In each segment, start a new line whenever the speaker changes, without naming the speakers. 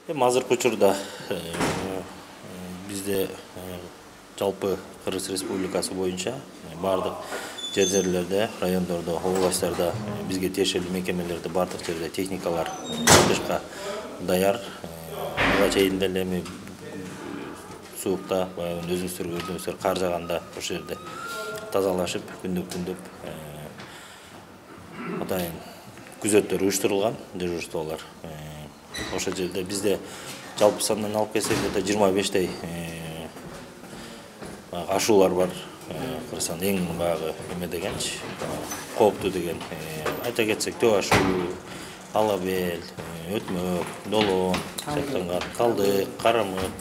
Азыркы учурда бизде жалпы Кыргыз Республикасы боюнча бардык жерлерде, райондордо, областтарда бизге тиешелүү мекемелерде бардык жерде техникалар чыгышка даяр. Буга чейин деле эми суукта баягы өзүңүздөр кар жааганда ошол жерде тазалашып, күндөп атайын күзөттөр уюштурулган, дежурстволор. Ошол жерде бизде жалпы сандан алып келсек, 25 ашуулар бар. Кыргызстан эң баягы эме дегенчи, кооптуу деген. Айта кетсек, төө ашуу, ала бел, өтмөк, долоон, сыяктанган, калдык, карамык,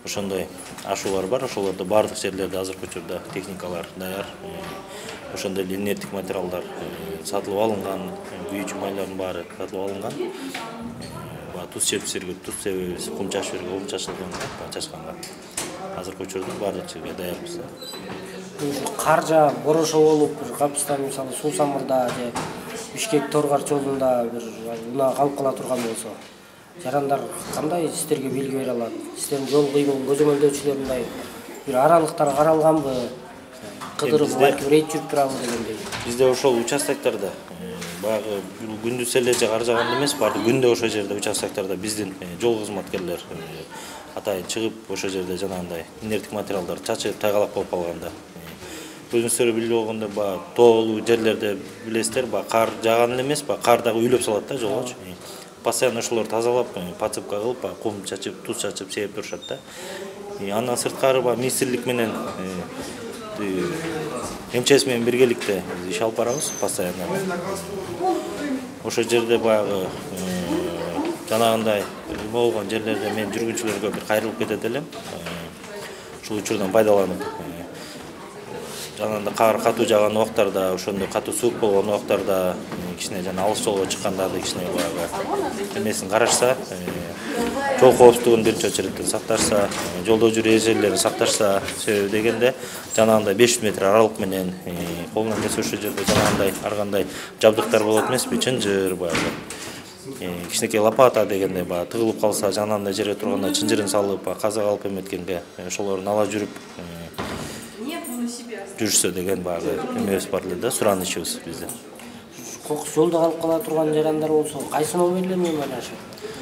ошондой ашуулар бар. Ошолордо бардык жерлерде азыркы учурда техникалар даяр. Ошондой эле инерттик материалдар сатылып алынган, күйүүчү майлардын баары сатылып алынган. Туз чепип жиберген, туз себебиз, кум чачып жиберген, кум чачылган, чачканга. Азыркы учурда бардык жерге даярбыз.
Кар жаап, борошо болуп, капыстан мисалы Суу-Самырда же Бишкек-Торгар жолунда бир унаа калып кала турган болсо, жарандар кандай сиздерге белги бере алат? Сиздердин жол кыймыл көзөмөлдөөчүлөр мындай бир аралыктар каралганбы? Кыдырып рейд жүрүп турабы дегендей.
Бизде ошол участоктарда баягы күндүз эле же кар жааганда эмес, баардык күндө ошол жерде участоктарда биздин жол кызматкерлер атайын чыгып ошол жерде жанагындай инерттик материалдар чачып тайгалак болуп калганда өзүңүздөр билип болгондой баягы тоолуу жерлерде билесиздер, баягы кар жааган эле эмес, баягы кар дагы үйлөп салат да жолгочу. Постоянно ошолорду тазалап, подсыпка кылып, баягы кум чачып, туз чачып себеп турушат да. Андан сырткары баягы министрлик менен МЧС менен биргеликте иш алып барабыз постоянно. Ошол жерде баягы жанагындай болгон жерлерде мен жүргүнчүлөргө бир кайрылып кетет элем. Ушул учурдан пайдаланып жанагындай кар катуу жааган убактарда, ошондой катуу суук болгон убактарда кичине жана алыс жолго чыккандарды кичине баягы эмесин карашса, жол коопсуздугун биринчи очереден сакташса, жолдо жүрүү эрежелерин сакташса, себеби дегенде жанагындай 500 метр аралык менен колунан келсе ошол жерде жанагындай ар кандай жабдыктар болот эмеспи, чынжыр баягы кичинекей лопата дегенде баягы тыгылып калса, жанагындай жерге турганда чынжырын салып, каза калып эметкенге ошолорун ала жүрүп жүрүшсө деген баягы эмебиз бар эле да, суранычыбыз биздин.
Кокус жолдо калып кала турган жарандар болсо, кайсы номерлер менен байланышат?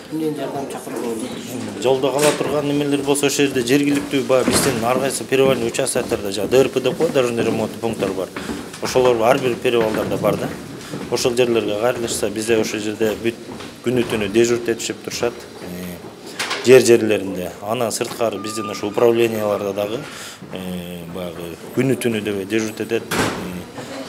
Кимден жардам чакырууга болот?
Жолдо кала турган немелер болсо, ошол жерде жергиликтүү баягы биздин ар кайсы перевальный участоктарда ДРП деп коет, дорожный ремонт пункттар бар. Ошолор ар бир перевалдарда бар да. Ошол жерлерге кайрылышса, бизде ошол жерде бүт күнү түнү дежурт этишип турушат. Жерлеринде. Анан сырткары биздин ошо управленияларда дагы баягы күнү түнү деп дежурт этет.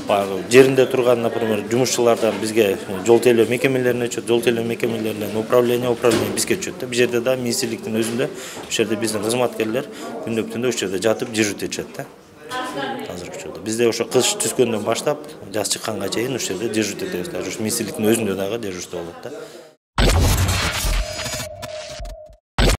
Баягы жеринде турган, например, жумушчулардан бизге жол тейлөө мекемелерине өчөт, жол тейлөө мекемелеринен управление бизге өчөт да. Бул жерде да министрликтин өзүндө ошол жерде биздин кызматкерлер күндөп түндө ошол жерде жатып дежурт этишет да. Азыркы учурда бизде ошо кыш түскөндөн баштап жаз чыкканга чейин ошол жерде дежурт этебиз. Даже министрликтин өзүндө дагы дежурство болот да.